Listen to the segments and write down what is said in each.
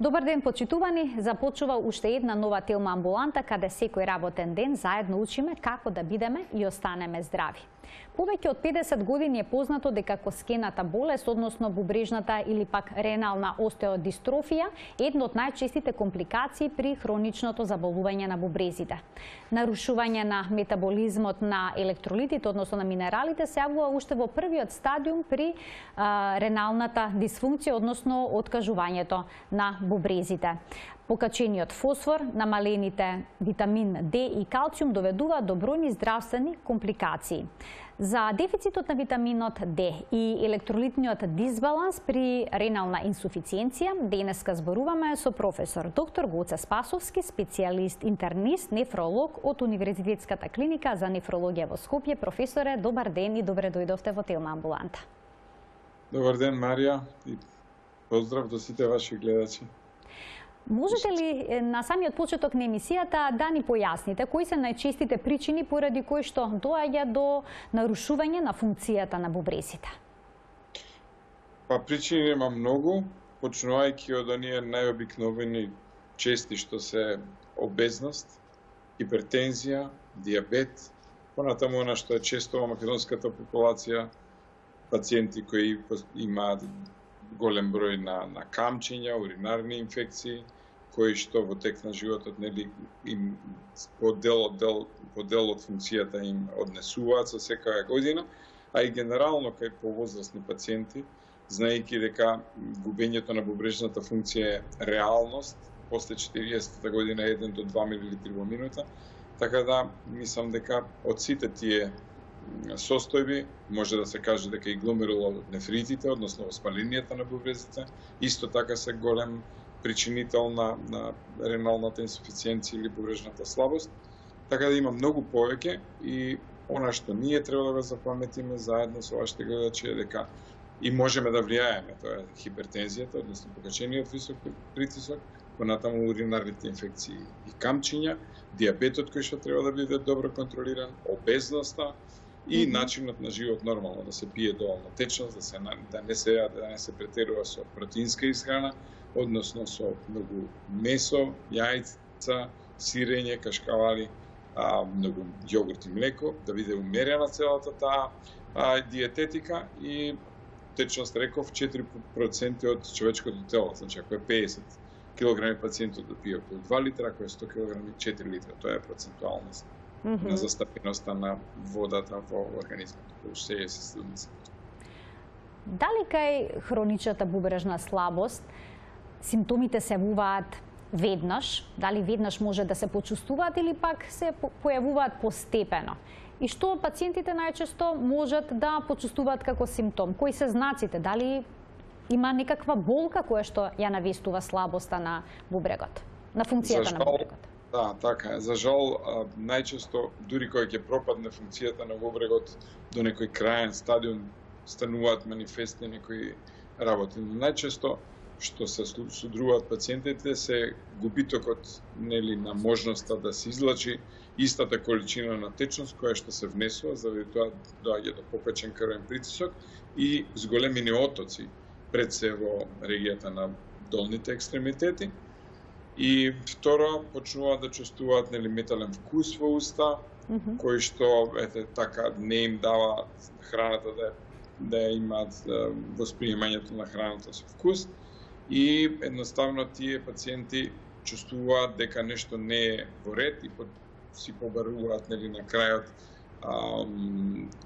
Добар ден, почитувани! Започува уште една нова Телма амбуланта, каде секој работен ден заедно учиме како да бидеме и останеме здрави. Повеќе од 50 години е познато дека коскената болест, односно бубрежната или пак ренална остеодистрофија, е една од најчестите компликации при хроничното заболување на бубрезите. Нарушување на метаболизмот на електролитите, односно на минералите, се јавува уште во првиот стадиум при реналната дисфункција, односно откажувањето на бубрезите. Покачениот фосфор, намалените витамин Д и калциум доведуваат до бројни здравствени компликации. За дефицитот на витаминот Д и електролитниот дисбаланс при ренална инсуфициенција денеска зборуваме со професор доктор Гоце Спасовски, специјалист интернист, нефролог од Универзитетската клиника за нефрологија во Скопје. Професоре, добар ден и добре дојдовте во Телма амбуланта. Добар ден, Марија, и поздрав до сите ваши гледачи. Можете ли на самиот почеток на емисијата да ни појасните кои се најчестите причини поради кои што доаѓа до нарушување на функцијата на бубрезите? Причини има многу, почнувајќи од оние најобикновени чести што се обезност, хипертензија, диабет, понатаму она што е често во македонската популација, пациенти кои имаат голем број на камчиња, уринарни инфекции, кои што во тек на животот им по дел од функцијата им однесуваат со секоја година, а и генерално кај повозрасни пациенти, знаејќи дека губењето на бубрежната функција е реалност, после 40-та година 1 до 2 мл во минута, така да мислам дека од сите тие состојби може да се каже дека и гломерулонефритите, односно воспаленијата на бубрезите, исто така се голем причинител на реналната инсуфициенција или бубрежната слабост. Така да има многу повеќе и она што ние треба да го запаметиме заедно со вашите гледачи е дека и можеме да влијаеме, тоа е хипертензијата, односно покачениот висок притисок, понатаму уринарните инфекции и камчиња, диабетот кој што треба да биде добро контролиран, обезноста и начинот на живот нормално, да се пие доволно течност, да не се претерува со протеинска исхрана, односно со многу месо, јајца, сирење, кашкавали, многу јогурт и млеко, да биде умерена целата таа диететика и течност реков 4% од човечкото тело, значи ако е 50 килограми пациентот да пие околу 2 литра, ако е 100 килограми 4 литра, тоа е процентуалност на застапеноста на водата во организмот, кој се е студница. Дали кај хроничната бубрежна слабост симптомите се јавуваат веднаш, дали веднаш може да се почувствуваат или пак се појавуваат постепено? И што пациентите најчесто можат да почувствуваат како симптом? Кои се знаците? Дали има некаква болка која што ја навестува слабоста на бубрегот, на функцијата на бубрегот? Да, така е. За жал, најчесто, дури кога ќе пропадне функцијата на бубрегот до некој краен стадиум, стануваат манифестни некои работи. Најчесто, што се судруваат пациентите, се губитокот на можноста да се излачи истата количина на течност која што се внесува, заради тоа доаѓа до покачен крвен притисок и зголемени отоци пред се во регијата на долните екстремитети. И второ, почнуваат да чувствуваат метален вкус во уста, кој што така не им дава храната да имаат восприемањето на храната со вкус. И едноставно тие пациенти чувствуваат дека нешто не е во ред и си побаруваат на крајот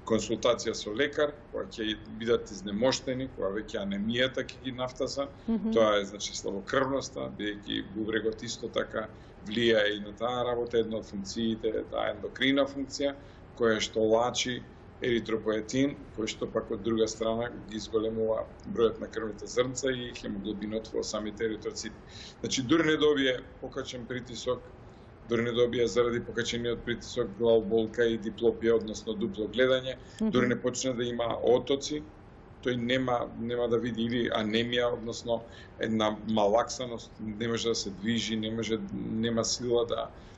консултација со лекар, кога ќе бидат изнемоштени, кога веќе анемијата ќе ги нафтаса, тоа е значи слабокрвноста, бидејќи бубрегот исто така влијае и на таа работа, една од функциите, таа ендокрина функција, која што лачи еритропоетин, кој што пак од друга страна ги зголемува бројот на крвните зрнца и хемоглобинот во самите еритроцити. Значи, дури не добие покачен притисок, дури не добија заради покачениот притисок главоболка и диплопија, односно дупло гледање, дури не почне да има отоци, тој нема да види или анемија, односно една малаксаност, не може да се движи, нема сила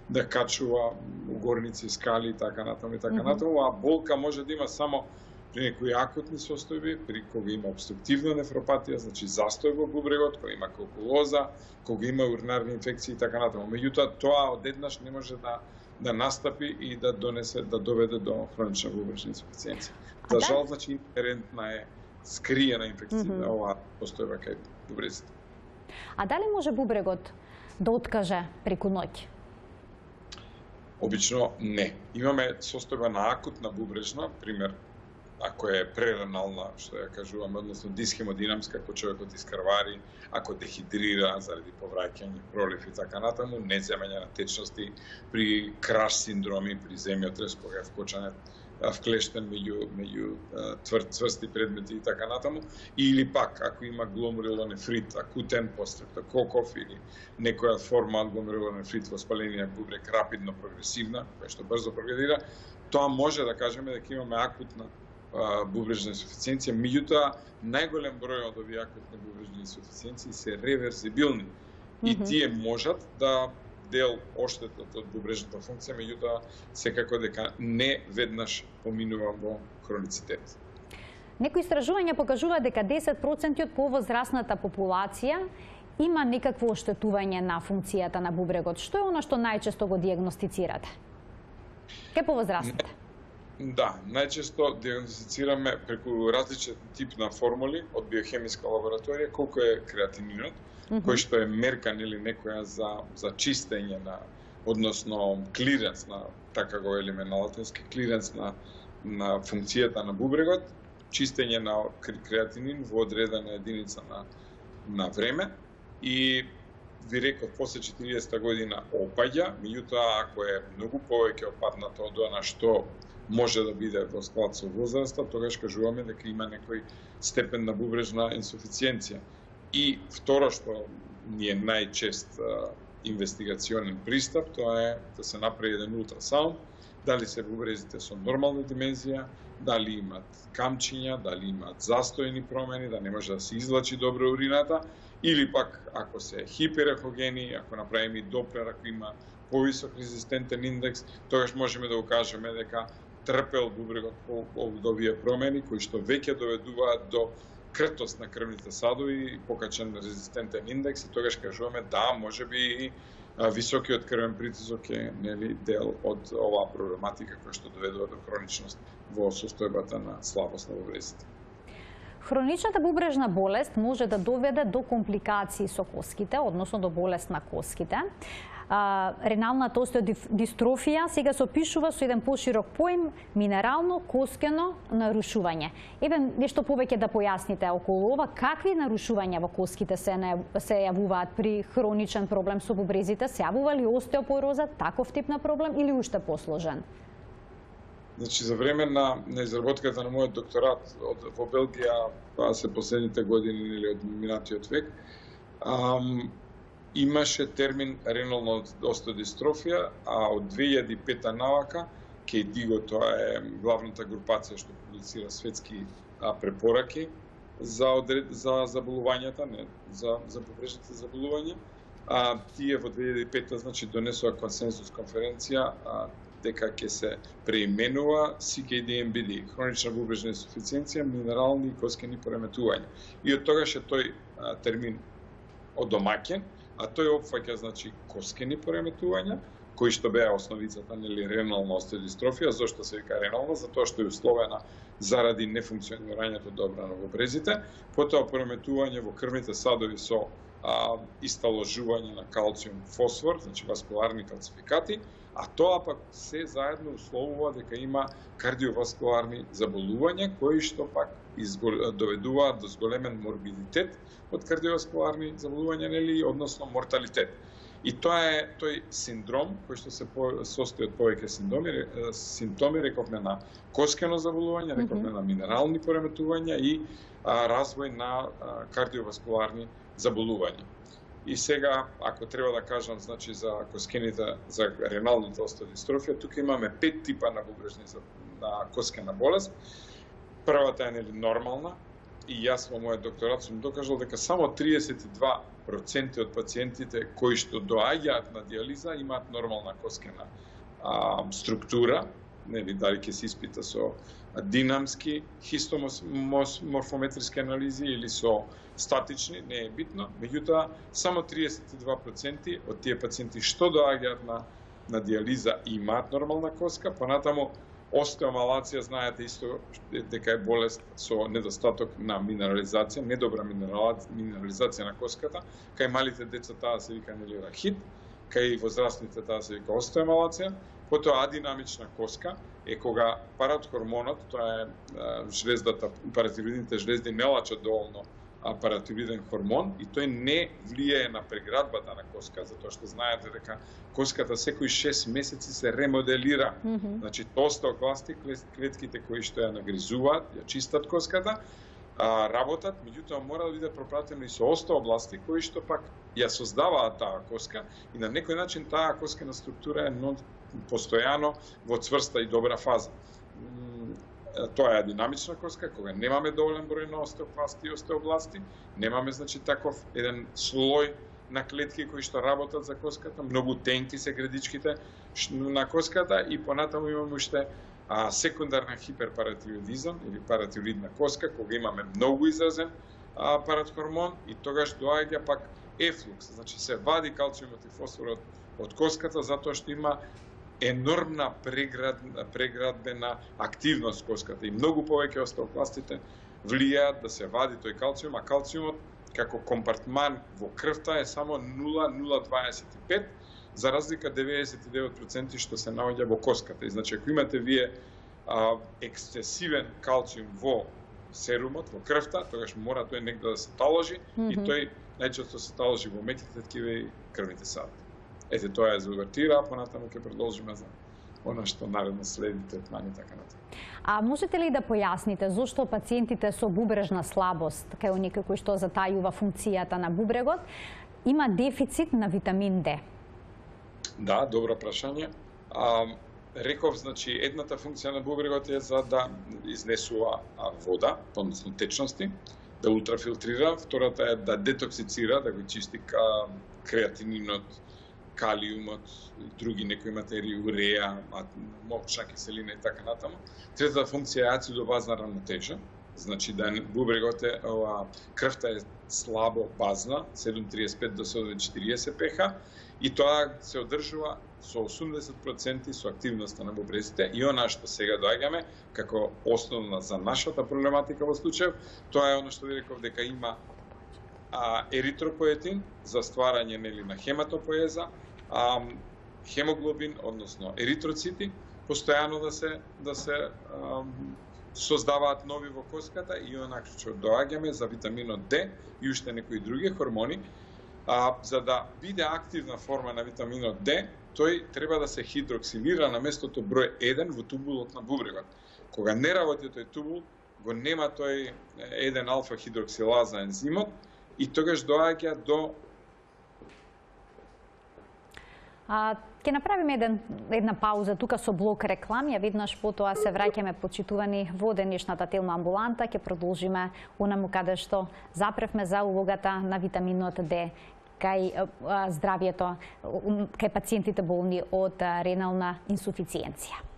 да качува угорници, скали и така натаму, а болка може да има само При некои акутни состојби, при кога има обструктивна нефропатија, значи застој во бубрегот, кога има кокулоза, кога има уринарни инфекции и така натаму. Меѓутоа, тоа одеднаш не може да настапи и да доведе до хронична бубрежна инсуфициенција. За жал, значи, инхерентна е скриена инфекција оваа постојба кај бубрезите. А дали може бубрегот да откаже преку ноќ? Обично не. Имаме состојба на акутна бубрежна, пример, ако е преренална, што ја кажуваме, односно дисхемодинамска, ако човекот искрвари, ако дехидрира заради повраќање, пролив и така натаму, неземање на течности, при краш синдроми, при земјотрес, кога е вкочане вклештен меѓу цврсти предмети и така натаму, или пак ако има гломерулонефрит, акутен по стрептококов или некоја форма од гломерулонефрит во спаление бубрек рапидно прогресивна, која што брзо прогредира, тоа може да кажеме дека имаме акутна бубрежна инсуфициенција, меѓутоа најголем број од овие акутни бубрежни инсуфициенции се реверзибилни и тие можат да дел оштетот од бубрежната функција, меѓутоа секако дека не веднаш поминува во хроницитет. Некои истражувања покажуваат дека 10% од повозрасната популација има некакво оштетување на функцијата на бубрегот. Што е она што најчесто го дијагностицирате? Кај повозрасните? Да, најчесто диагностицираме преку различен тип на формули од биохемиска лабораторија колку е креатининот, кој што е меркан или некоја за чистење на, односно клиренс на, така го велиме на латински, клиренс на функцијата на бубрегот, чистење на креатинин во одредена единица на време и ви реков после 40 година опаѓа, меѓутоа ако е многу повеќе опаднато од она што може да биде во склад со возраста, тогаш кажуваме дека има некој степен на бубрежна инсуфициенција. И второ што ни е најчест инвестигационен пристап, тоа е да се направи еден ултрасаунд, дали се бубрезите со нормална димензија, дали имат камчиња, дали имат застојни промени, да не може да се извлачи добро урината, или пак ако се хиперехогени, ако направиме доплер, ако има повисок резистентен индекс, тогаш можеме да укажеме дека трпел бубрегот од овие промени кои што веќе доведуваат до кртост на крвните садови и покачен резистентен индекс и тогаш кажуваме да, можеби и високиот крвен притисок е дел од оваа проблематика која што доведува до хроничност во состојбата на слабост на бубрезите. Хроничната бубрежна болест може да доведе до компликации со коските, односно до болест на коските. Реналната остеодистрофија сега се опишува со еден поширок поим минерално коскено нарушување. Еве нешто повеќе да појасните околу ова, какви нарушувања во коските се јавуваат при хроничен проблем со бубрезите? Се јавува ли остеопороза, таков тип на проблем или уште посложен? Значи, за време на изработката на мојот докторат во Белгија, тоа се последните години или од минатиот век, имаше термин ренална остеодистрофија, а од 2005 навака, KDIGO, тоа е главната групација што публицира светски препораки за заболувањата, не, за бубрежните заболувања. Тие во 2005 значи донесува консенсус конференција дека ќе се преименува CKD-MBD, хронична бубрежна инсуфициенција, минерални и коскени пореметувања. И од тогаш е тој термин одомаќен, а тој опфаќа значи коскени пореметувања, кои што беа основицата нели ренална остеодистрофија. Зошто се вика ренална? Затоа што е условена заради нефункционирањето добро на бубрезите, потоа пореметување во крвните садови со исталожување на калциум фосфор, значи васкуларни калцификати, а тоа пак се заедно условува дека има кардиоваскуларни заболувања кои што пак доведуваат до зголемен морбидитет од кардиоваскуларни заболувања, нели, односно морталитет. И тоа е тој синдром кој што се состои од повеќе симптоми, рековме на коскено заболување, рековме на минерални пореметувања и развој на кардиоваскуларни заболувања. И сега, ако треба да кажам, значи за коскените, за реналната остеодистрофија, тука имаме 5 типа на бубрежни на коскена болест. Првата е нели нормална и јас во мојот докторат сум докажал дека само 32% од пациентите кои што доаѓаат на диализа имаат нормална коскена структура, нели дали ќе се испита со динамски хистоморфометриски анализи или со статични, не е битно, меѓутоа само 32% од тие пациенти што доаѓаат на диализа имаат нормална коска, понатаму остеомалација, знаете исто дека е болест со недостаток на минерализација, недобра минерализација на коската, кај малите деца таа се вика рахит, кај возрастните таа се вика остеомалација, потоа адинамична коска е кога паратхормонот, тоа е жлездата, паратироидните жлезди не лачат доволно паратироиден хормон и тој не влијае на преградбата на коска, затоа што знаете дека коската секои 6 месеци се ремоделира. Значи, остеокласти, клетките кои што ја нагризуваат, ја чистат коската, работат, меѓутоа мора да биде пропратено и со остеобласти кои што пак ја создаваат таа коска и на некој начин таа коскена структура е постојано во цврста и добра фаза. Тоа е динамична коска, кога немаме доволен број на остеокласти и остеобласти, немаме, значи, таков еден слој на клетки кои што работат за коската, многу тенки се градичките на коската и понатаму имаме уште секундарна хиперпаратироидизам или паратироидна коска, кога имаме многу изразен паратхормон и тогаш доаѓа пак ефлукс, значи се вади калциумот и фосфорот од коската затоа што има енормна преградбена активност коската и многу повеќе остеокластите влијаат да се вади тој калциум, а калциумот како компартман во крвта е само 0,025, за разлика 99% што се наоѓа во коската. И значи ако имате вие ексцесивен калциум во серумот, во крвта, тогаш мора тој негде да се таложи и тој најчесто се таложи во меките ткива и крвните сади. Ете, тоа е за увертира, а понатаму ќе продолжиме за она што наредно следи третмани и така натаму. А можете ли да појасните зошто пациентите со бубрежна слабост, кај некој кој што затајува функцијата на бубрегот, има дефицит на витамин Д? Да, добро прашање. Реков, значи, едната функција на бубрегот е за да изнесува вода, односно течности, да ултрафилтрира, втората е да детоксицира, да го чисти креатининот, калиумот, други некои материи, уреа, мокчна киселина и така натаму. Третата функција е ацидо-базна рамнотежа, значи да бубрегот е, крвта е слабо базна, 7,35 до 7,40 pH, и тоа се одржува со 80% со активноста на бубрезите и она што сега доаѓаме како основна за нашата проблематика во случај, тоа е она што ви реков дека има еритропоетин за стварање на хематопоеза, хемоглобин, односно еритроцити, постојано да се создаваат нови во коската и онак што доаѓаме за витаминот Д и уште некои други хормони, за да биде активна форма на витаминот Д, тој треба да се хидроксилира на местото број 1 во тубулот на бубрегот. Кога не работи тој тубул, го нема тој 1 алфа хидроксилаза ензимот и тогаш доаѓа до Ќе направиме една пауза тука со блок реклами, а веднаш потоа се враќаме почитувани во денешната телма амбуланта, ќе продолжиме онаму каде што запревме за улогата на витаминот Д кај здравието, кај пациентите болни од ренална инсуфициенција.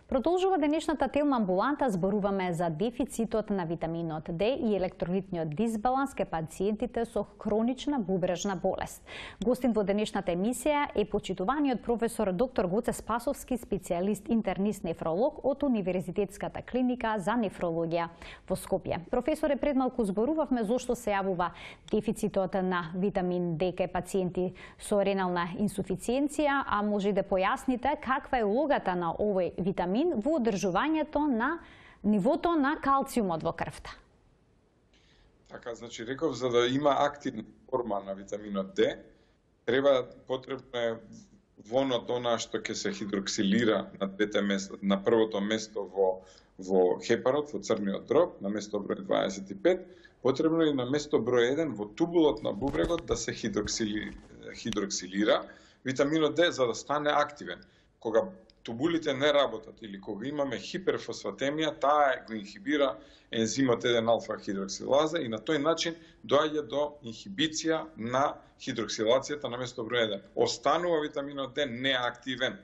Продолжува денешната телма амбуланта, зборуваме за дефицитот на витаминот Д и електролитниот дисбаланс кај пациентите со хронична бубрежна болест. Гостин во денешната емисија е почитуваниот професор доктор Гоце Спасовски, специјалист интернист нефролог од Универзитетската клиника за нефрологија во Скопје. Професоре, пред малку зборувавме зошто се јавува дефицитот на витамин Д кај пациенти со ренална инсуфициенција, а може да појасните каква е улогата на овој витамин во одржувањето на нивото на калциумот во крвта. Така, значи, реков, за да има активна форма на витаминот Д, потребно е вонот она што ќе се хидроксилира на првото место во хепарот, во црниот дроб, на место број 25, потребно е на место број 1 во тубулот на бубрегот да се хидроксилира витаминот Д за да стане активен. Кога тубулите не работат или кога имаме хиперфосфатемија, таа го инхибира ензимот 1-алфа-хидроксилаза и на тој начин доаѓа до инхибиција на хидроксилацијата на место број 1. Останува витаминот Д неактивен.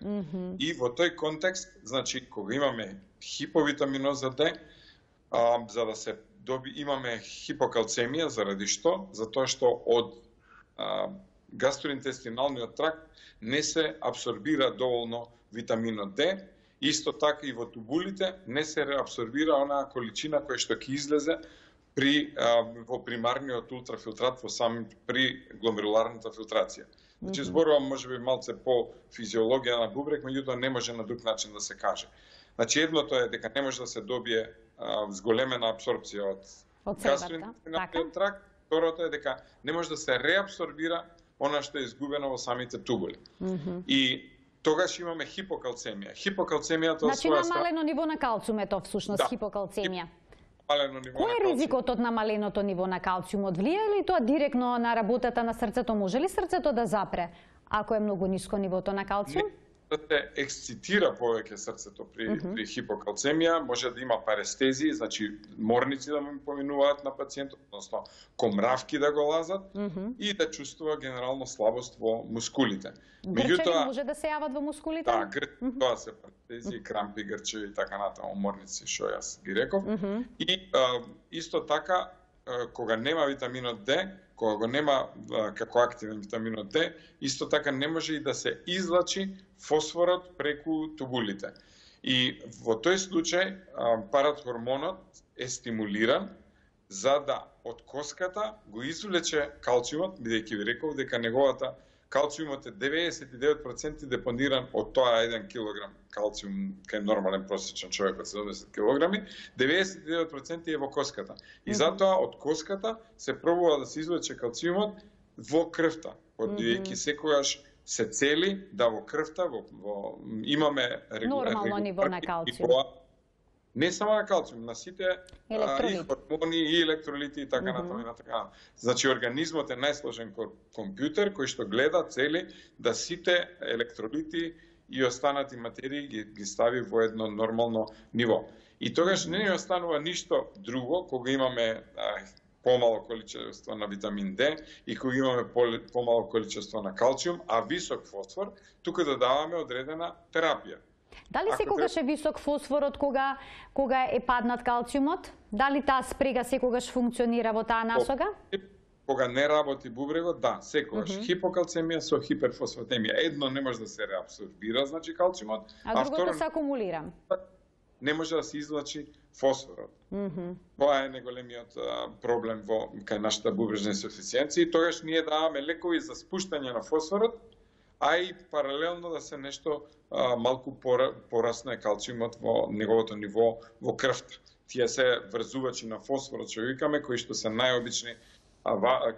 И во тој контекст, значи, кога имаме хиповитаминоза Д, за да се имаме хипокалцемија, заради што? Затоа што од гастроинтестиналниот тракт не се абсорбира доволно витаминот Д, исто така и во тубулите не се реабсорбира онаа количина која што ќе излезе во примарниот ултрафилтрат при гломеруларната филтрација. Значи зборувам можеби малце по физиологија на бубрек, меѓутоа не може на друг начин да се каже. Значи едното е дека не може да се добие зголемена абсорбција од гастроинтестиналниот тракт, второто е дека не може да се реабсорбира она што е изгубено во самите тубули. И тогаш имаме хипокалцемија. Хипокалцемијата значи намалено ниво на калциум е тоа всушност хипокалцемија. Кој е ризикот од намаленото ниво на калциумот? Влијае ли тоа директно на работата на срцето? Може ли срцето да запре ако е многу ниско нивото на калциум? Да се ексцитира повеќе срцето при хипокалцемија, може да има парестезии, значи морници да му поминуваат на пациентот, односно комравки да го лазат и да чувствува генерално слабост во мускулите. Грчеви може да се јават во мускулите? Да, тоа се парестезии, крампи, грчеви и така натаму, морници, што јас ги реков. И исто така, кога нема витаминот Д, кога го нема како активен витаминот Д, исто така не може и да се излачи фосфорот преку тубулите. И во тој случај парахормонот е стимулиран за да од коската го извлече калциумот, бидејќи ви реков дека неговата калциумот е 99% депониран од тоа 1 килограм калциум кај нормален просечен човек од 70 килограми, 99% е во коската. И затоа од коската се пробува да се извлече калциумот во крвта, бидејќи секогаш се цели да во крвта имаме нормално ниво на калциум. Не само на калциум, на сите и хормони и електролити и така натаму и така. Значи организмот е најсложен компјутер кој што гледа, цели да сите електролити и останати материи ги стави во едно нормално ниво. И тогаш не ни останува ништо друго кога имаме помало количество на витамин Д и кога имаме помало количество на калциум, а висок фосфор, тука да даваме одредена терапија. Дали секогаш е висок фосфорот кога е паднат калциумот? Дали таа спрега секогаш функционира во таа насока? Кога не работи бубрегот, да, секогаш. Хипокалцемија со хиперфосфатемија. Едно не може да се реабсорбира, значи калциумот, а другото се акумулира. Не може да се излачи фосфорот. Тоа е најголемиот проблем кај нашата бубрежна инсуфициенција и тогаш ние даваме лекови за спуштање на фосфорот, а и паралелно да се нешто малку порасне калциумот во неговото ниво во крвта. Тие се врзувачи на фосфорот, што викаме, кои што се најобични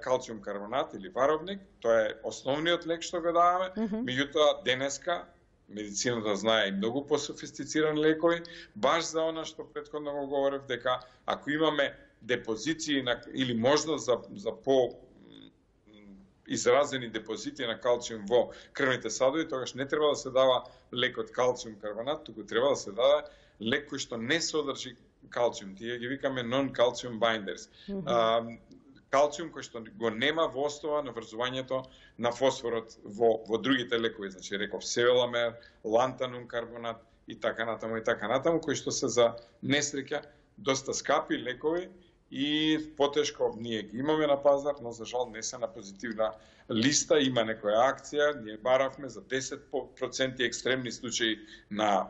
калциум карбонат или варовник, тоа е основниот лек што го даваме, меѓутоа денеска медицината знае и многу пософистицирани лекови, баш за она што претходно го говорев, дека ако имаме депозиции или можност за изразени депозити на калциум во крвните садови, тогаш не треба да се дава лек од калциум карбонат, туку треба да се дава лек кој што не содржи калциум. Тие ги викаме non-calcium binders. Калциум кој што го нема во основа на врзувањето на фосфорот во другите лекови, значи реков севеламер, лантанум карбонат и така натаму, кои што се за несреќа доста скапи лекови и потешко ние ги имаме на пазар, но за жал не се на позитивна листа, има некоја акција, ние баравме за 10% екстремни случаи на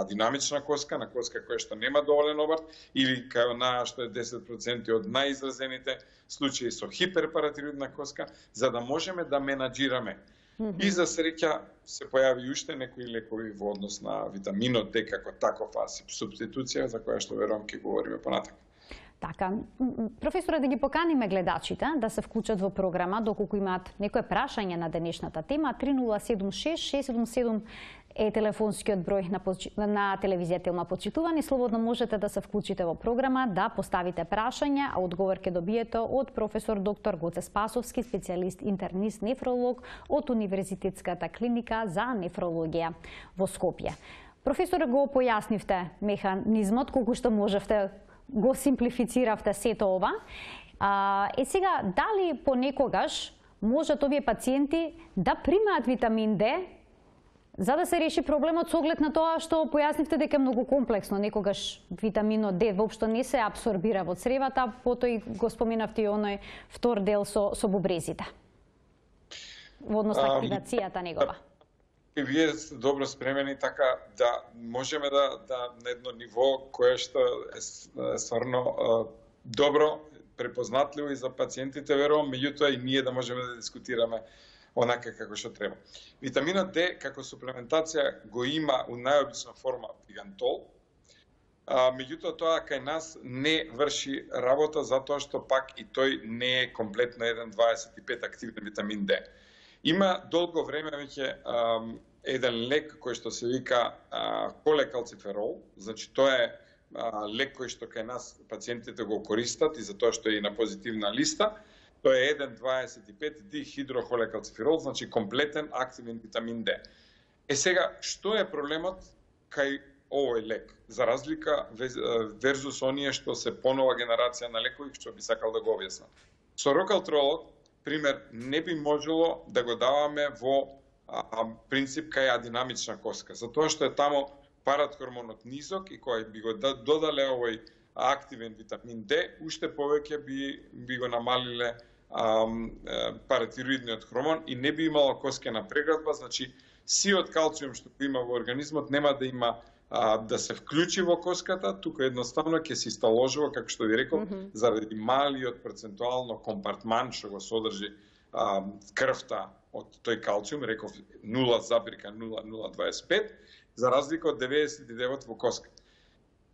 динамична коска, на коска која што нема доволен обрт, или кај онаа што е 10% од најизразените случаи со хиперпаратироидна коска, за да можеме да менаџираме. И за среќа се појави уште некои лекови во однос на витаминот Д како такова субституција за која што верувам ќе говориме понатака. Така, професоре, да ги поканиме гледачите да се вклучат во програма, доколку имаат некое прашање на денешната тема, 3076 е телефонскиот број на телевизија Телма. Почитувани, слободно можете да се вклучите во програма, да поставите прашања, а одговор ќе добиете од професор доктор Гоце Спасовски, специјалист интернист нефролог од Универзитетската клиника за нефрологија во Скопје. Професор, го појаснивте механизмот, колку што можевте, го симплифициравте сето ова. Сега, дали понекогаш можат овие пациенти да примаат витамин Д за да се реши проблемот со оглед на тоа што појаснивте дека е многу комплексно, некогаш витаминот Д воопшто не се абсорбира во цревата, потоа го споменавте и оној втор дел со бубрезите. Во однос на активацијата негова. Вие сте добро спремени така да можеме да на едно ниво кое што е стварно добро препознатливо и за пациентите, верувам, меѓутоа и ние да можеме да дискутираме онака како што треба. Витаминот Д како суплементација го има у најобична форма пигантол, меѓутоа тоа кај нас не врши работа затоа што пак и тој не е комплетно 1,25 активен витамин Д. Има долго време веќе еден лек кој што се вика колекалциферол, значи тоа е лек кој што кај нас пациентите го користат и затоа што е и на позитивна листа. Тоа е 1,25 дихидрохолекалциферол, значи комплетен активен витамин Д. Сега, што е проблемот кај овој лек? За разлика верзус оние што се понова генерација на лекови, што би сакал да го објаснам. Со рокалтролот, пример, не би можело да го даваме во принцип кај адинамична коска, затоа што е тамо паратхормонот низок и кој би го додале овој активен витамин Д, уште повеќе би го намалиле паратироидниот хормон и не би имало коскена преградба, значи сиот калциум што го има во организмот нема да има да се вклучи во коската, тука едноставно ќе се исталожува, како што ви реков, заради малиот процентуално компартман што го содржи крвта од тој калциум, реков 0,0025, за разлика од 99 во коска.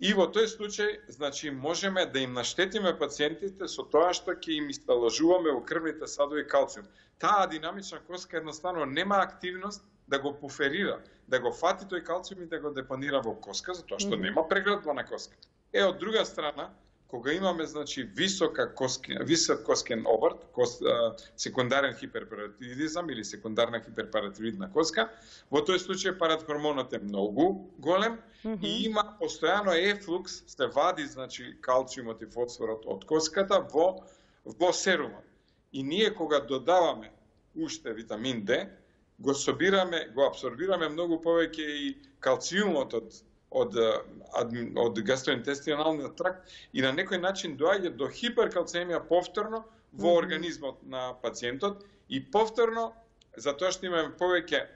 И во тој случај, значи, можеме да им наштетиме пациентите со тоа што ќе им исталожуваме во крвните садови калциум. Таа динамична коска едноставно нема активност да го буферира, да го фати тој калциум и да го депонира во коска, затоа што нема преградба на коска. Од друга страна, кога имаме, значи, висок коскен обрт, секундарен хиперпаратироидизам или секундарна хиперпаратироидна коска, во тој случај паратхормонот е многу голем и има постојано ефлукс, се вади, значи, калциумот и фосфорот од коската во серумот. И ние кога додаваме уште витамин Д, го абсорбираме многу повеќе и калциумот од гастроинтестиналниот тракт и на некој начин доаѓа до хиперкалцемија повторно во организмот на пациентот и повторно, затоа што имаме повеќе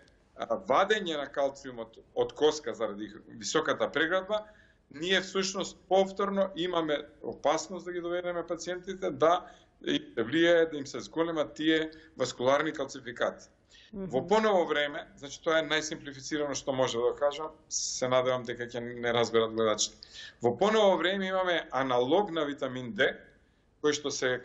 вадење на калциумот од коска заради високата преградба, ние всушност повторно имаме опасност да ги доведеме пациентите да влијае, да им се зголемат тие васкуларни калцификати. Во поново време, значи тоа е најсимплифицирано што може да кажам, се надевам дека ќе не разберат гледачите. Во поново време имаме аналог на витамин Д, кој што се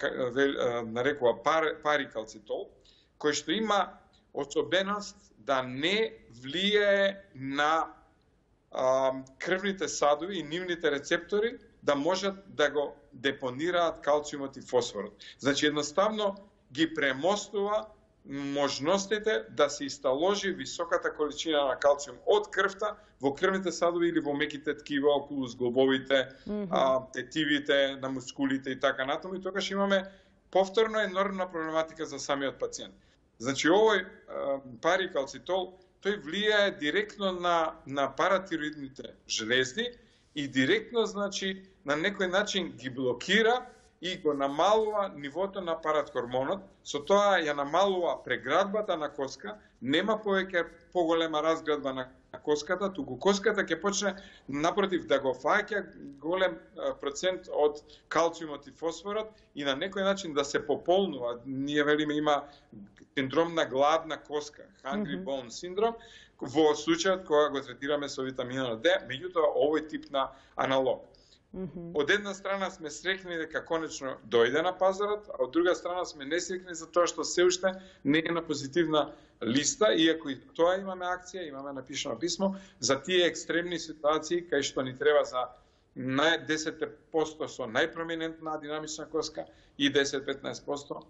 нарекува парикалцитол, кој што има особеност да не влијае на крвните садови и нивните рецептори да можат да го депонираат калциумот и фосфорот. Значи едноставно ги премостува можностите да се исталожи високата количина на калциум од крвта во крвните садови или во меките ткива околу зглобовите, тетивите, на мускулите и така натаму, и тогаш имаме повторно енормна проблематика за самиот пациент. Значи овој парикалцитол, тој влијае директно на паратироидните жлезди и директно, значи, на некој начин ги блокира и го намалува нивото на паратхормонот, со тоа ја намалува преградбата на коска, нема повеќе поголема разградба на коската, туку коската ќе почне напротив да го фаќа голем процент од калциумот и фосфорот и на некој начин да се пополнува. Ние велиме има синдром на гладна коска, hungry bone синдром, во случајот кога го третираме со витаминот Д, меѓутоа овој тип на аналог. Од една страна сме среќни дека конечно дојде на пазарот, а од друга страна сме несреќни за тоа што се уште не е на позитивна листа, иако и тоа имаме акција, имаме напишано писмо за тие екстремни ситуации кај што ни треба за 10% со најпроминентна динамична коска и 10-15%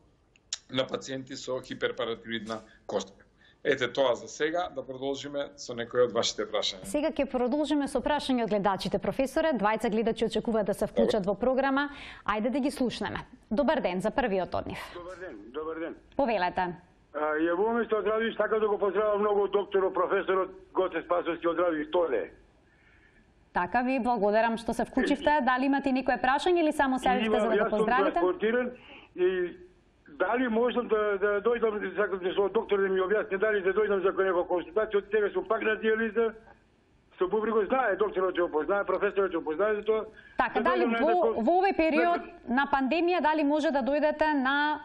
на пациенти со хиперпаратироидна коска. Ете тоа за сега, да продолжиме со некои од вашите прашања. Сега ќе продолжиме со прашања од гледачите, професоре. Двајца гледачи очекуваат да се вклучат во програма. Ајде да ги слушнеме. Добар ден за првиот од нив. Добар ден. Повелете. Јавуваме што од Радовиш, така да го поздравам многу докторот, професорот Гоце Спасовски од Радовиш Толе. Така, ви благодарам што се вклучивте. Дали имате некое прашање или само се јавивте за да го поздравите? Јас сум транспортиран и дали можам да дојдам, сакам со доктор да ми објасни дали да дојдам за некоја консултација, од тебе сум пак на диализа, со бубрегот знае, докторот ќе опознае, професорот ќе опознае за тоа. Така, дали во овој период на пандемија, дали може да дојдете на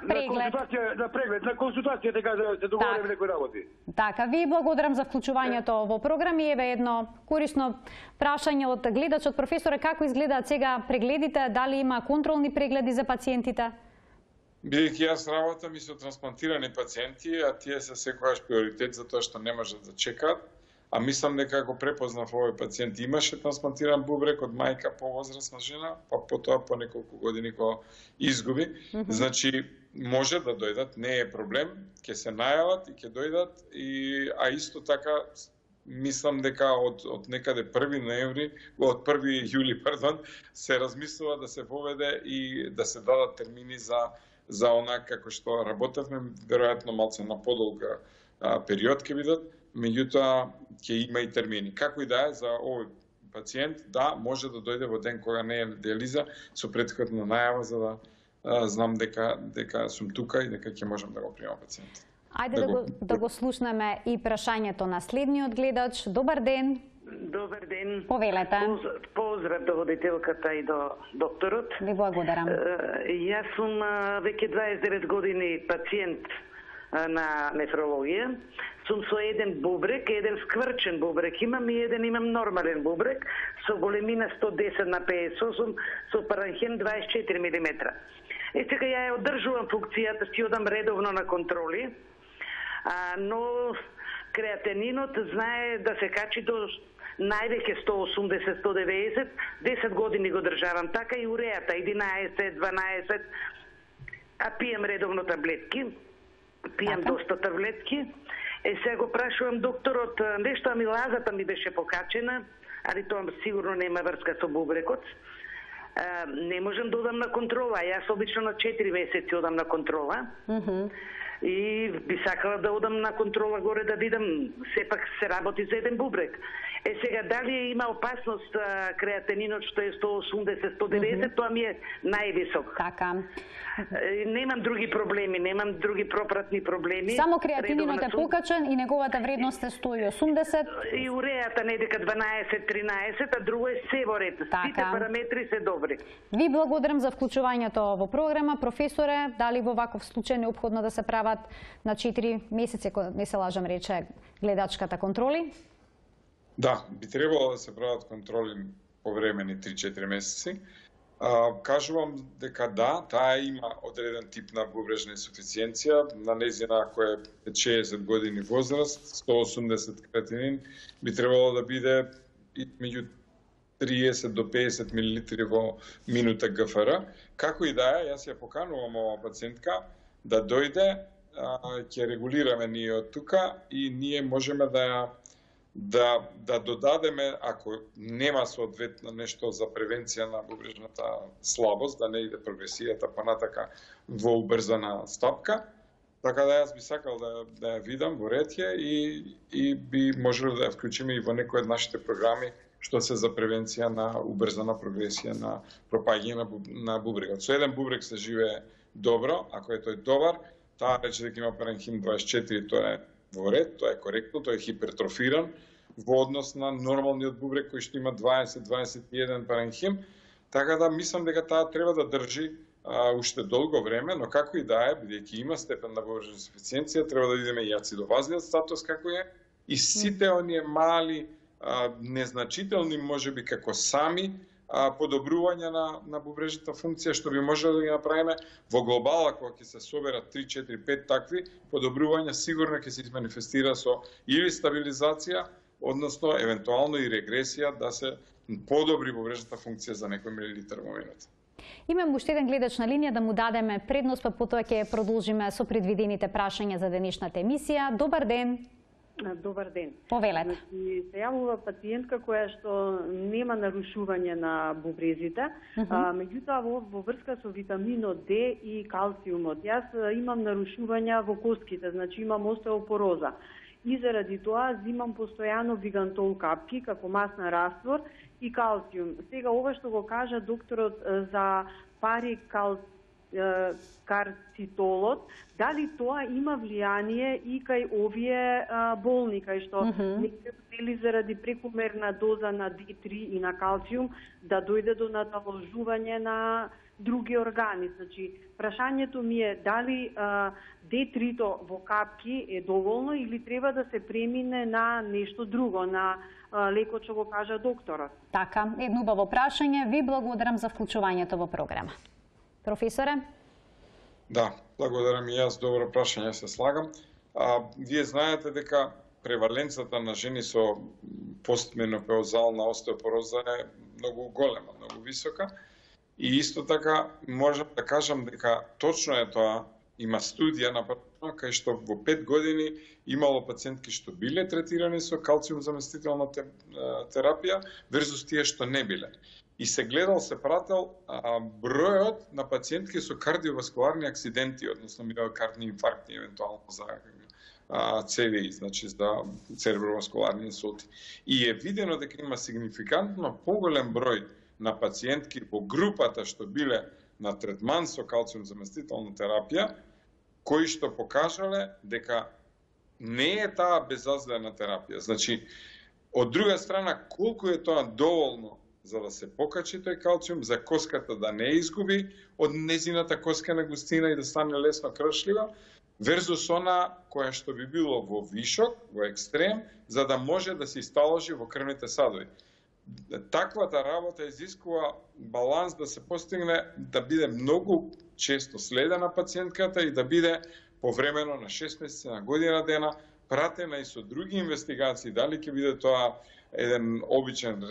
преглед? На преглед, на консултација, така да се договориме некои работи. Така, ви благодарам за вклучувањето во програми. Еве едно корисно прашање од гледачот, професоре, како изгледаат сега прегледите, дали има контролни прегледи за пациентите? Бидејќи јас работам и со трансплантирани пациенти, а тие се секогаш приоритет за тоа што не можат да чекаат, а мислам дека ако препознав овој пациент имаше трансплантиран бубрек од мајка повозрасна жена, па потоа по неколку години го изгуби, значи може да дојдат, не е проблем, ќе се најават и ќе дојдат, а исто така мислам дека од некаде 1 ноември, од 1 јули, се размислува да се воведе и да се дадат термини за она како што работевме, веројатно малце на подолга период ќе бидат, меѓутоа ќе има и термини. Како и да е за овој пациент, да, може да дојде во ден кога не е на диализа со претходна најава за да знам дека сум тука и дека ќе можам да го примам пациентот. Ајде да го слушнеме и прашањето на следниот гледач. Добар ден. Добар ден. Повелете. Поздрав до водителката и до докторот. Ви благодарам. Јас сум веќе 29 години пациент на нефрологија. Сум со еден бубрек, еден скврчен бубрек имам и еден имам нормален бубрек со големина 110 на 58 со паранхим 24 мм. И сега ја одржувам функцијата, си одам редовно на контроли, но креатининот знае да се качи до највеќе 180-190, 10 години го државам така и уреата 11-12, а пием редовно таблетки, пием доста таблетки. Сега го прашувам докторот, нешто амилазата ми беше покачена, али тоа сигурно нема врска со бубрекот. Не можам да одам на контрола, јас обично на 4 месеци одам на контрола. И би сакала да одам на контрола горе да видам, сепак се работи за еден бубрек. Сега дали има опасност креатининот што е 180-190, тоа ми е највисок. Така. Немам други проблеми, немам други пропратни проблеми. Само креатининот е покачен и неговата вредност е 180. И уреата не дека 12-13, а друго е се во ред. Сите параметри се добри. Ви благодарам за вклучувањето во програма. Професоре, дали во ваков случај неопходно да се прават на 4 месеци, ако не се лажам рече гледачката, контроли? Да, би требало да се прават контроли повремени 3-4 месеци. Кажувам дека да, таа има одреден тип на бубрежна инсуфициенција, на незина ако е 60 години возраст, 180 креатинин, би требало да биде меѓу 30 до 50 мл во минута ГФР. Како и да е, јас ја поканувам ова пациентка да дојде, ќе регулираме ние од тука и ние можеме да додадеме, ако нема соодветно нешто за превенција на бубрежната слабост, да не иде прогресијата понатака во убрзана стапка. Така да јас би сакал да ја видам во ретје и би можело да ја вклучиме и во некои од нашите програми што се за превенција на убрзана прогресија на пропаѓање на бубрегот. Со еден бубрек се живее добро, ако е тој добар, таа рече дека има паранхим 24, тоа е во ред, тоа е коректно, тоа е хипертрофиран во однос на нормалниот бубрек кој што има 20-21 паранхим, така да мислам дека таа треба да држи уште долго време, но како и да е, бидејќи има степен на бубрежна инсуфициенција, треба да видиме и ацидовазниот статус како е и сите оние мали незначителни можеби како сами подобрување на бубрежната функција, што би можело да ги направиме во глобала, кога ќе се соберат 3, 4, 5 такви подобрувања, сигурно ќе се манифестира со или стабилизација, односно евентуално и регресија да се подобри бубрежната функција за некој милилитар во минута. Имам уште еден гледач на линија, да му дадеме предност, па потоа ќе продолжиме со предвидените прашања за денешната емисија. Добар ден. Добар ден. Повелете. Се јавува пациентка која што нема нарушување на бубрезите, меѓутоа во врска со витаминот Д и калциумот. Јас имам нарушувања во костките, значи имам остеопороза. И заради тоа зимам постојано вигантол капки како масна раствор и калциум. Сега ова што го кажа докторот за парикарцитолот, дали тоа има влијание и кај овие болни, кај што нели заради прекумерна доза на D3 и на калциум да дојде до наталожување на други органи. Значи, прашањето ми е дали D3-то во капки е доволно или треба да се премине на нешто друго, на лекот што го кажа докторот. Така, едно убаво прашање. Ви благодарам за вклучувањето во програма. Професоре? Да, благодарам и јас, добро прашање, се слагам. Вие знаете дека преваленцата на жени со постменопаузална остеопороза е многу голема, многу висока. И исто така можам да кажам дека точно е тоа, има студија направена кај што во 5 години имало пациентки што биле третирани со калциум заместителна терапија версус тие што не биле. И се гледал, се прател бројот на пациентки со кардиоваскуларни акциденти, односно миокардни инфаркти, евентуално за ЦВИ, значи за цереброваскуларни инсулти. И е видено дека има сигнификантно поголем број на пациентки во групата што биле на третман со калциум заместителна терапија, кои што покажале дека не е таа безазлена терапија. Значи, од друга страна, колку е тоа доволно за да се покачи тој калциум, за коската да не изгуби од незината коскена густина и да стане лесно кршлива, верзус она која што би било во вишок, во екстрем, за да може да се исталожи во крвните садови. Таквата работа изискува баланс да се постигне, да биде многу често следена пациентката и да биде повремено на 6 месеци, на година дена, пратена и со други инвестигации, дали ќе биде тоа еден обичен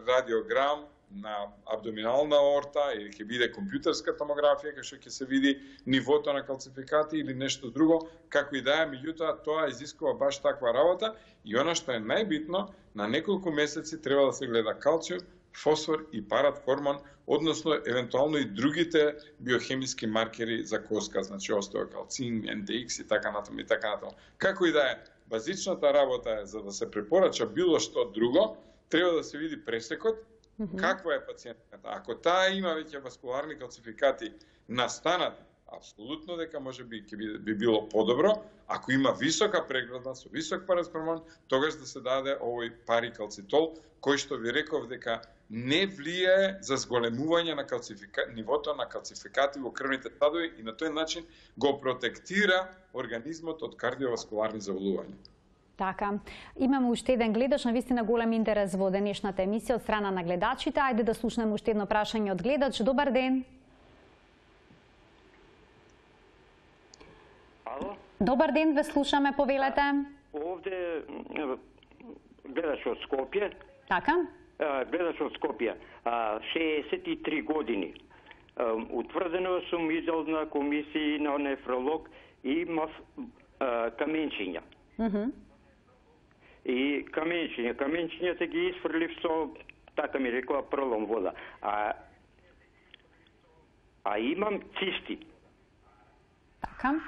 радиограм на абдоминална аорта или ќе биде компјутерска томографија кај што ќе се види нивото на калцификати или нешто друго, како и да е, меѓутоа тоа изискува баш таква работа и она што е најбитно, на неколку месеци треба да се гледа калциум, фосфор и паратхормон, односно евентуално и другите биохемиски маркери за коска, значи остеокалцин, NDX и така натаму и така натаму. Како и да е, базичната работа е за да се препорача било што друго, треба да се види пресекот, каква е пациентката. Ако таа има веќе васкуларни калцификати настанати, апсолутно дека може би би било подобро. Ако има висока преграда со висок паратхормон, тогаш да се даде овој парикалцитол, кој што ви реков дека не влијае за зголемување на нивото на калцификати во крвните садови и на тој начин го протектира организмот од кардиоваскуларни заболувања. Така, имаме уште еден гледач, на вистина голем интерес во денешната емисија од страна на гледачите. Ајде да слушнеме уште едно прашање од гледач. Добар ден. Ало? Добар ден, ве слушаме, повелете. Овде гледач од Скопје. Така? Гледач од Скопје. 63 години. Утврдено сум идел на комисии на нефролог и имав каменчиња. И каменчињата ги исфрлив со, така ми рекла, пролом вода. А имам цисти. Така?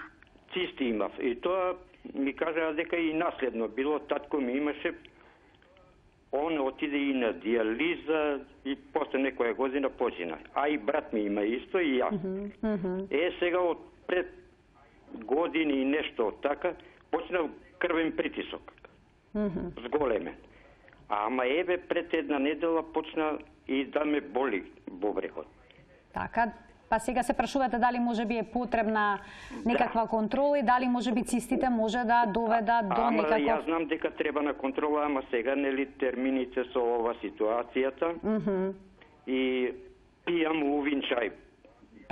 Цисти имав. И тоа ми кажа дека и наследно било. Татко ми имаше, он отиде и на диализа и после некоја година почина. А и брат ми има исто и ја. Сега од пред години и нешто така почнав крвен притисок. Зголемен. Ама пред една недела почна и да ме боли бубрегот. Така, Па сега се прашувате дали можеби е потребна некаква контрола и дали можеби цистите може да доведат до некаков... Јас знам дека треба на контрола, ама сега нели термините со ова ситуацијата и пијам увин чај.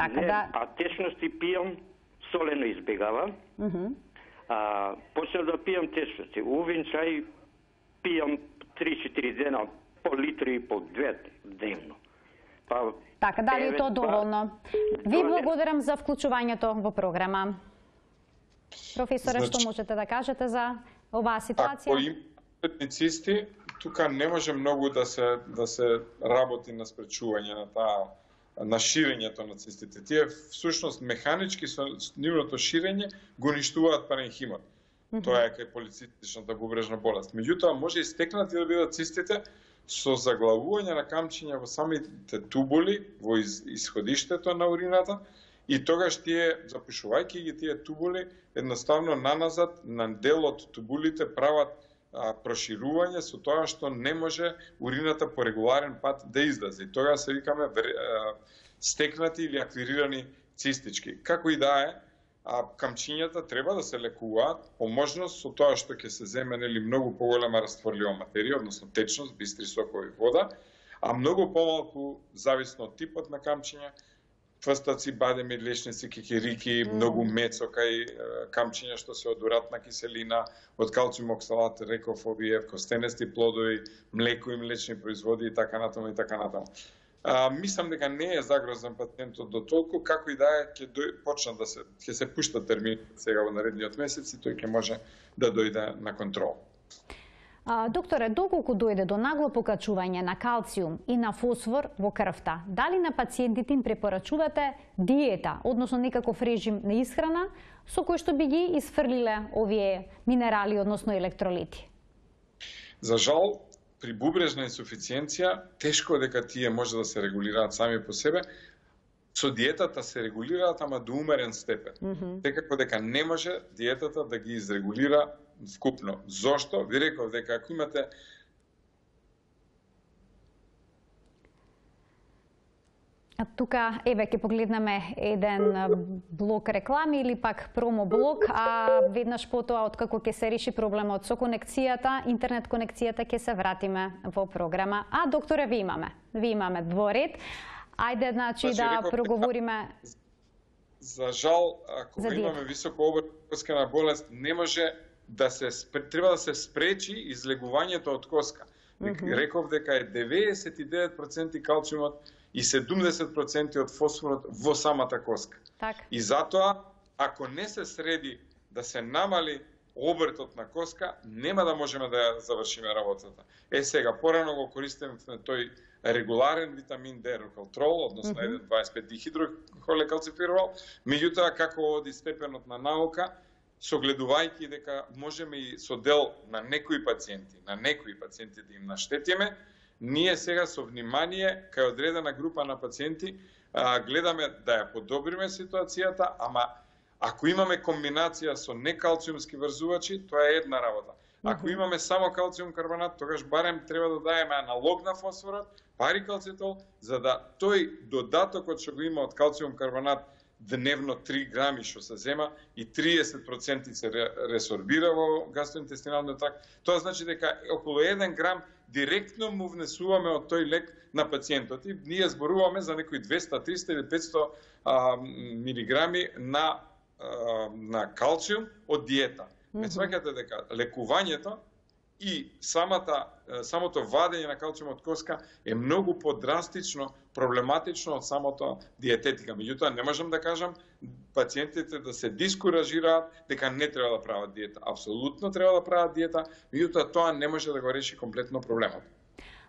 Така да... А течности пијам, солено избегава. Почнав да пијам течности. Увин чај пијам 3-4 дена, по литри и по 2 дневно. Па, така, дали е тоа доволно? Ви благодарам за вклучувањето во програма. Професоре, што можете да кажете за оваа ситуација? Ако има цисти, тука не може многу да се работи на спречување на ширењето на цистите. Тие всушност механички со нивното ширење го уништуваат паренхимот. Тоа е кај полицистичната бубрежна болест. Меѓутоа може и стекнати да бидат цистите со заглавување на камчиња во самите тубули, во исходиштето на урината, и тогаш тие, запушувајќи ги тие тубули, едноставно наназад на дел од тубулите прават проширување со тоа што не може урината по регуларен пат да излезе. И тогаш се викаме стекнати или аквирирани цистички. Како и да е, камчињата треба да се лекуваат по можност со тоа што ќе се земе многу поголема растворлива материја, односно течност, бистри сокови, вода, а многу помалку зависно од типот на камчиња, тврстаци, бадеми, лешници, кикирики, многу мецо кај камчиња што се од уратна киселина, од калциум оксалат, реков, овие костенести плодови, млеко и млечни производи и така натаму и така натаму. Мислам дека не е загрозен пациентот до толку, како и да е, ќе се пушта термин сега во наредниот месец и тој ќе може да дојде на контрол. Докторе, доколку дојде до нагло покачување на калциум и на фосфор во крвта, дали на пациентите им препорачувате диета, односно некаков режим на исхрана, со кој што би ги исфрлиле овие минерали, односно електролити? За жал, при бубрежна инсуфициенција, тешко дека тие може да се регулираат сами по себе. Со диетата се регулираат, ама до умерен степен. Секако дека не може диетата да ги изрегулира вкупно. Зошто? Ви реков дека ако имате тука, еве, ќе погледнеме еден блок реклами или пак промо блок, а веднаш потоа, откако ќе се реши проблемот со конекцијата, интернет конекцијата, ќе се вратиме во програма. А, докторе, ви имаме дворед. Ајде, значи, да проговориме... За жал, ако имаме високо обрскена болест, не може да треба да се спречи излегувањето од коска. Реков дека е 99% калциумот и 70% од фосфорот во самата коска. И затоа, ако не се среди да се намали обртот на коска, нема да можеме да ја завршиме работата. Сега, порано го користиме тој регуларен витамин D рокалтрол, односно 1,25 дихидрохолекалцифирол, меѓутоа како оди степенот на наука, согледувајќи дека можеме и со дел на некои пациенти да им наштетиме, ние сега со внимание, кај одредена група на пациенти, гледаме да ја подобриме ситуацијата, ама ако имаме комбинација со некалциумски врзувачи, тоа е една работа. Ако имаме само калциум карбонат, тогаш барем треба да даеме аналог на фосфорот, парикалцитол, за да тој додатокот што го има од калциум карбонат дневно 3 грами што се зема и 30% се ресорбира во гастроинтестиналниот тракт, тоа значи дека околу 1 грам директно му внесуваме од тој лек на пациентот. И ние зборуваме за некои 200, 300 или 500 милиграми на калциум од диета. Сваќате дека лекувањето и самото вадење на калциум од коска е многу подрастично, проблематично од самото диететика. Меѓутоа, не можам да кажам пациентите да се дискуражираат дека не треба да прават диета. Апсолутно треба да прават диета, меѓутоа тоа не може да го реши комплетно проблемот.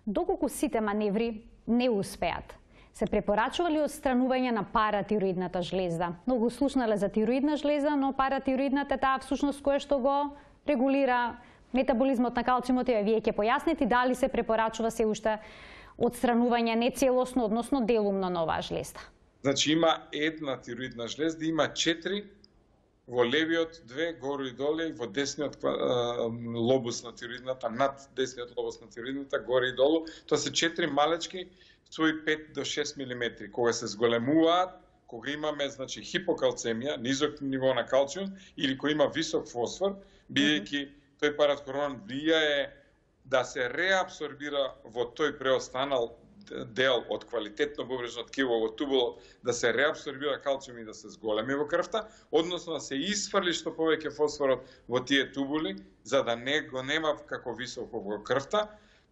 Доколку сите маневри не успеат, се препорачува ли отстранување на паратироидната жлеза? Многу слушнале за тироидна жлеза, но паратироидната е таа всушност која што го регулира метаболизмот на калциумот, и вие ќе појасните дали се препорачува се уште отстранување не целосно, односно делумно на оваа жлеза. Значи има една тироидна жлеза, има 4 во левиот 2 гору и доле, и во десниот лобус на тироидната, над десниот лобус на тироидната, горе и долу. Тоа се 4 малечки, свој 5 до 6 мм. Кога се зголемуваат, кога имаме значи хипокалцемија, низок ниво на калциум или кој има висок фосфор, бидејќи тој параткормон влијае да се реабсорбира во тој преостанал дел од квалитетно бубрежно ткиво во тубулот, да се реабсорбира калциум и да се зголеми во крвта, односно да се исфрли што повеќе фосфорот во тие тубули, за да не го нема како високо во крвта,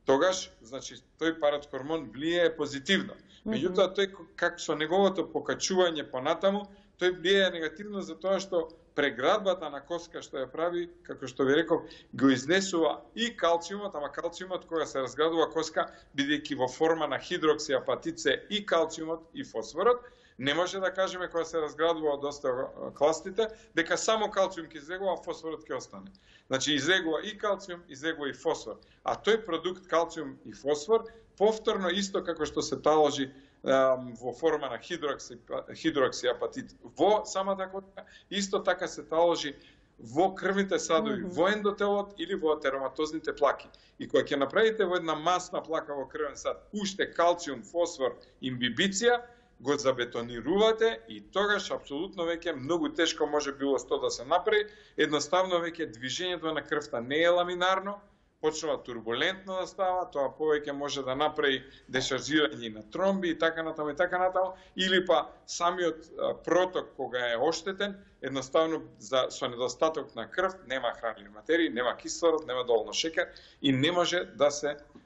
тогаш значи тој параткормон влијае позитивно. Меѓутоа тој како со неговото покачување понатаму, тој влијае негативно за тоа што преградбата на коска што ја прави, како што ви реков, го изнесува и калциумот, ама калциумот кога се разградува коска, бидејќи во форма на хидроксиапатит се и калциумот и фосфорот, не може да кажеме кога се разградува од остеокластите, дека само калциум ќе излегува, а фосфорот ќе остане. Значи излегува и калциум, излегува и фосфор. А тој продукт калциум и фосфор повторно исто како што се таложи во форма на хидроксиапатит во самата коска, исто така се таложи во крвните садови, во ендотелот или во атероматозните плаки. И кога ќе направите во една масна плака во крвен сад, уште калциум, фосфор, имбибиција, го забетонирувате и тогаш апсолутно веќе многу тешко може било што да се направи, едноставно веќе движењето на крвта не е ламинарно, почнува турбулентно да става, тоа повеќе може да направи дешаржирање на тромби и така натаму, или па самиот проток кога е оштетен, едноставно со недостаток на крв, нема хранливи материи, нема кислород, нема доволно шекер и не може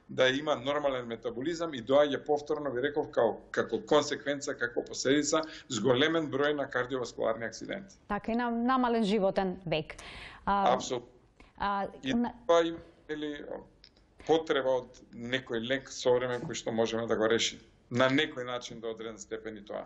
да има нормален метаболизам и доаѓа повторно, ви реков, како консеквенца, како последица, зголемен број на кардиоваскуларни акциденти. Така и намален животен век. Апсолутно. И тоа или потреба од некој лек современ кој што можеме да го реши на некој начин до одреден степен и тоа.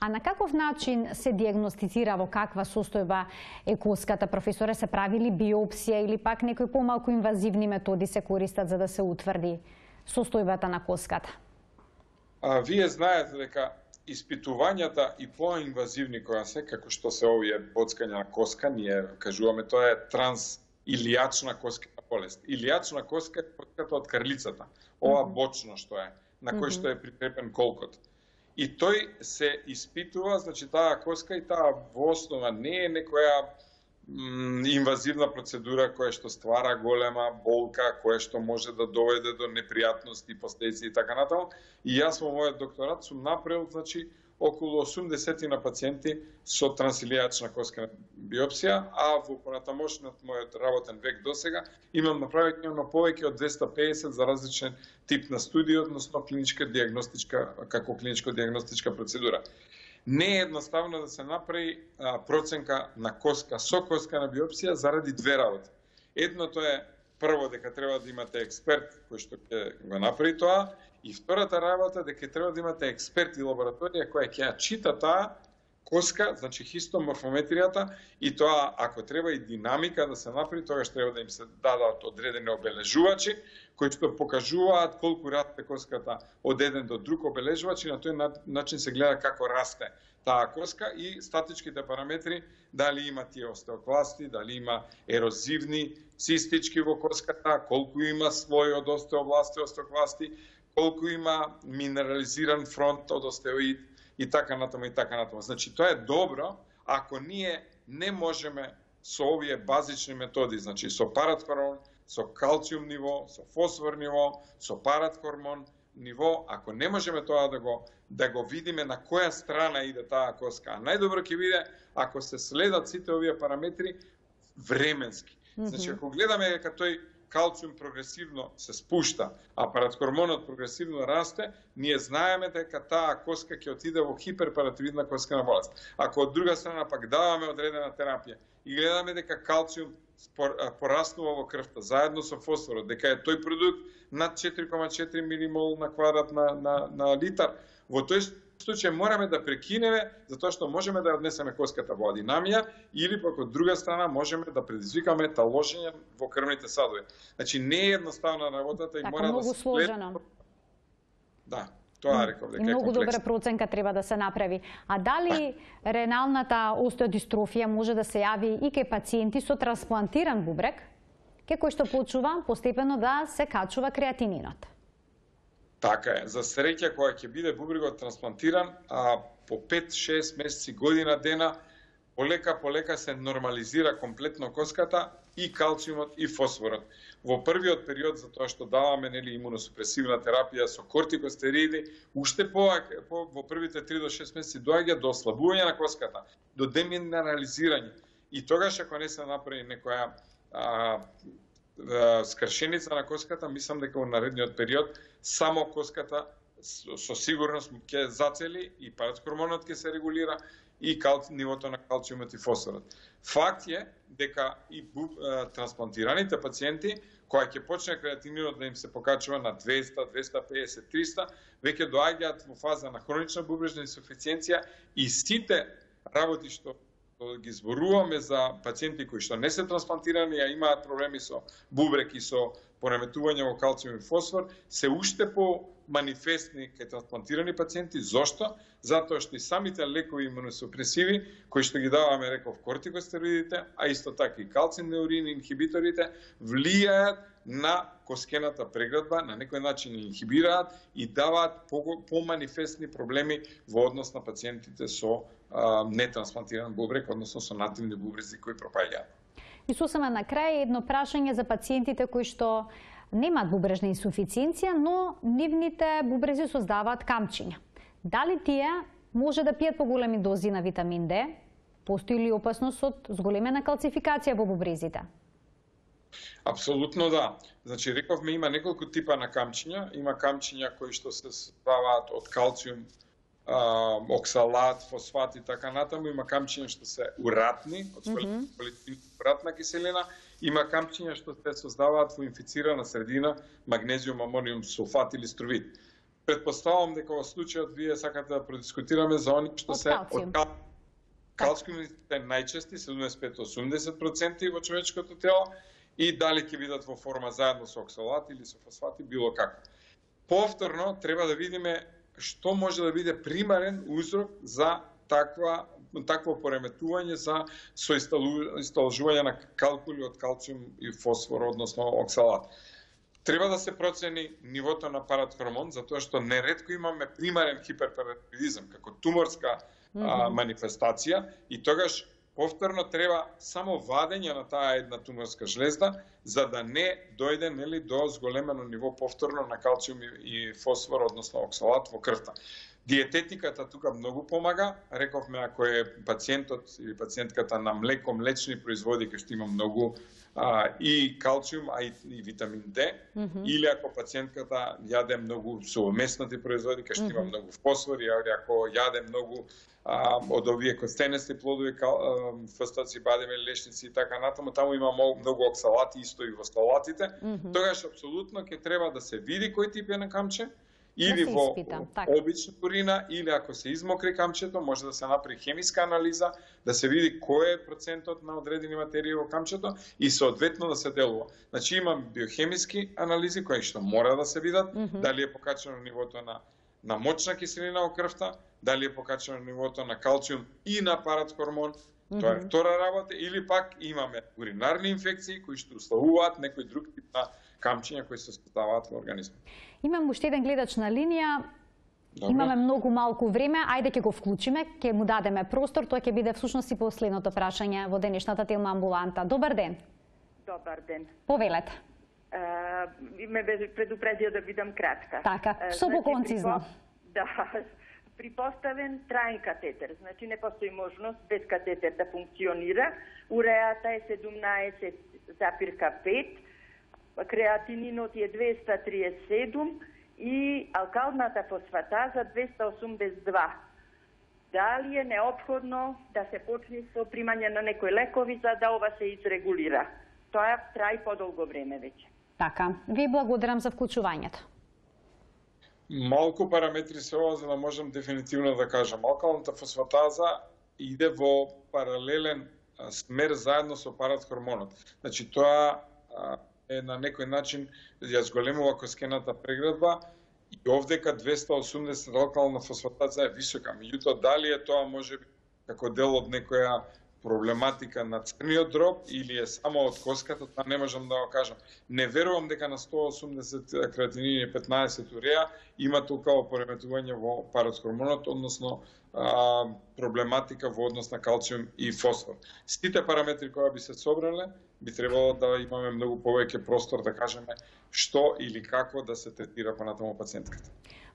А на каков начин се диагностицира, во каква состојба е коската, професоре? Се правили биопсија или пак некои помалку инвазивни методи се користат за да се утврди состојбата на коската? Вие знаете дека испитувањата и поинвазивни која се, како што се овие боцкања на коска, ние кажуваме тоа е илијачна коската болест. Илијачна коска е коската од карлицата, ова бочно што е, на кој што е прикрепен колкот. И тој се испитува, значи таа коска и таа во основа не е некоја инвазивна процедура која што ствара голема болка, која што може да доведе до непријатности, последици и така натаму. И јас во мојот докторат сум направил, значи, околу 80 на пациенти со трансилијачна коскена биопсија, а во понатамошниот мојот работен век досега имам направено повеќе од 250 за различен тип на студии, односно како клиничко-диагностичка процедура. Не е едноставно да се направи проценка на коска со коскена биопсија заради две работи. Едното е прво дека треба да имате експерт кој што ќе го направи тоа, и втората работа дека треба да имате експерт и лабораторија која ќе ја чита таа коска, значи хистоморфометријата, и тоа ако треба и динамика да се направи, тогаш треба да им се дадат одредени обележувачи кои што покажуваат колку расте коската од еден до друг обележувач и на тој начин се гледа како расте таа коска и статичките параметри, дали има тие остеокласти, дали има ерозивни цистички во коската, колку има слој од остеобласти, остеокласти, колку има минерализиран фронт од остеоид и така натаму и така натаму. Значи тоа е добро ако ние не можеме со овие базични методи, значи со параткормон, со калциум ниво, со фосфор ниво, со параткормон ниво, ако не можеме тоа да го видиме на која страна иде таа коска. А најдобро ќе биде ако се следат сите овие параметри временски. Значи ако гледаме дека тој калциум прогресивно се спушта, а параткормонот прогресивно расте, ние знаеме дека таа коска ќе отиде во хиперпаративидна коскена болест. Ако од друга страна пак даваме одредена терапија и гледаме дека калциум пораснува во крвта заедно со фосфорот, дека е тој продукт над 4,4 милимол на квадрат на литар, во тој случај мораме да прекинеме затоа што можеме да однесеме коската во адинамија или пак од друга страна можеме да предизвикаме таложење во крвните садови. Значи не е едноставна работата и така, мора многу да се сложено. Да, тоа реков дека е многу комплексно. добра проценка треба да се направи. А дали реналната остеодистрофија може да се јави и кај пациенти со трансплантиран бубрек, кај кој што почува постепено да се качува креатининот? Така е. За среќа, кога ќе биде бубрегот трансплантиран, по 5-6 месеци, година дена, полека се нормализира комплетно коската и калциумот и фосфорот. Во првиот период, за тоа што даваме имуносупресивна терапија со кортикостериди, уште во првите 3 до 6 месеци доаѓа до ослабување на коската, до деминерализирање. И тогаш ако не се направи некоја скршеница на коската, мислам дека во наредниот период само коската со сигурност ќе зацели и парацхормонот ќе се регулира и нивото на калциумот и фосфорот. Факт е дека и трансплантираните пациенти, кои ќе почне креатининот да им се покачува на 200, 250, 300, веќе доаѓаат во фаза на хронична бубрежна инсуфициенција и сите работи што ги зборуваме за пациенти кои што не се трансплантирани, а имаат проблеми со бубрек и со пореметување во калциум и фосфор, се уште по манифестни кај трансплантирани пациенти. Зошто? Затоа што и самите лекови имуносупресиви, кои што ги даваме, реков, кортикостероидите, а исто така и калцинеурин инхибиторите, влијаат на коскената преградба, на некој начин инхибираат и даваат по-манифестни проблеми во однос на пациентите со нетрансплантиран бубрек, односно со нативни бубрези кои пропаѓаат. И сосема на крај едно прашање за пациентите кои што немаат бубрежна инсуфициенција, но нивните бубрези создаваат камчиња. Дали тие може да пијат поголеми дози на витамин Д? Постои ли опасност од зголемена калцификација во бубрезите? Апсолутно да. Значи, рековме, има неколку типа на камчиња. Има камчиња кои што се создаваат од калциум, оксалат, фосфат и така натаму. Има камчиња што се уратни, од уратна киселина. Има камчиња што се создаваат во инфицирана средина, магнезиум, амониум сулфат или струвит. Предпоставувам дека во случајот вие сакате да продискутираме за они што се од калциумите најчести, 75-80% во човечкото тело, и дали ќе бидат во форма заедно со оксалат или со фосфати, било како. Повторно, треба да видиме што може да биде примарен узрок за такво пореметување за соисталжување на калкули од калциум и фосфор, односно оксалат. Треба да се процени нивото на паратхормон, затоа што неретко имаме примарен хиперпаратидизам како туморска манифестација и тогаш повторно треба само вадење на таа една туморска жлезда за да не дојде до зголемено ниво повторно на калциум и фосфор, односно оксалат во крвта. Диететиката тука многу помага. Рековме, ако е пациентот или пациентката на млеко, млечни производи, кај што има многу и калциум, а и витамин Д, или ако пациентката јаде многу совместни производи, кај што има многу фосфор, или ако јаде многу од овие костенести плодови, фстаци, бадеме, лешници и така натаму, таму има многу оксалати, исто и во салатите, тогаш апсолутно ќе треба да се види кој тип е на камче, или во обична урина, или ако се измокри камчето, може да се направи хемиска анализа, да се види кој е процентот на одредени материи во камчето и соодветно да се делува. Значи имам биохемиски анализи кои што мора да се видат, дали е покачено нивото на мочна киселина во крвта, дали е покачено нивото на калциум и на паратхормон, тоа е втора работа, или пак имаме уринарни инфекции кои што условуваат некој друг тип на камчиња кои се создаваат во организмот. Имам уште еден гледач на линија. Добре. Имаме многу малку време, ајде ќе го вклучиме, ќе му дадеме простор, тоа ќе биде всушност и последното прашање во денешната Телма амбуланта. Добар ден. Добар ден. Повелете. Ме предупредија да бидам кратка. Така, што по-концизно. Да, припоставен траен катетер, значи не постои можност без катетер да функционира. Уреата е 17,5, креатининот е 237 и алкалната фосфатаза 282. Дали е неопходно да се почне со примање на некои лекови за да ова се изрегулира? Тоа траи подолго време веќе. Така, ви благодарам за вклучувањето. Малку параметри се ова за да можам дефинитивно да кажам. Алкалната фосфатаза иде во паралелен смер заедно со паратхормонот. Значи тоа е на некој начин ја зголемува коскената преградба и овдека 280 алкална фосфатаза е висока. Меѓутоа, дали е тоа може би како дел од некоја проблематика на црниот дроб или е само од коската, тоа не можам да го кажам. Не верувам дека на 180 креатинин и 15 уреа има толкова пореметување во паратхормонот, односно проблематика во однос на калциум и фосфор. Сите параметри кои би се собрале, би требало да имаме многу повеќе простор да кажеме што или како да се третира понатаму пациентката.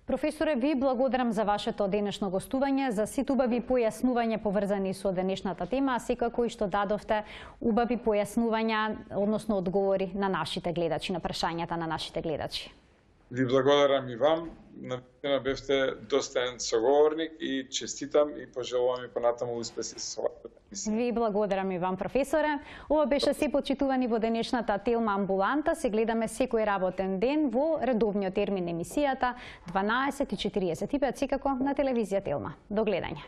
Професоре, ви благодарам за вашето денешно гостување, за сите убави појаснувања поврзани со денешната тема, а секако и што дадовте убави појаснувања, односно одговори на нашите гледачи, на прашањата на нашите гледачи. Ви благодарам и вам. Навистина бевте достоен соговорник и честитам и пожелувам и понатаму успеси со вашата емисија. Ви благодарам и вам, професоре. Ова беше се, почитувани, во денешната Телма амбуланта. Се гледаме секој работен ден во редовниот термин емисијата 12:45 секако на телевизија Телма. До гледање.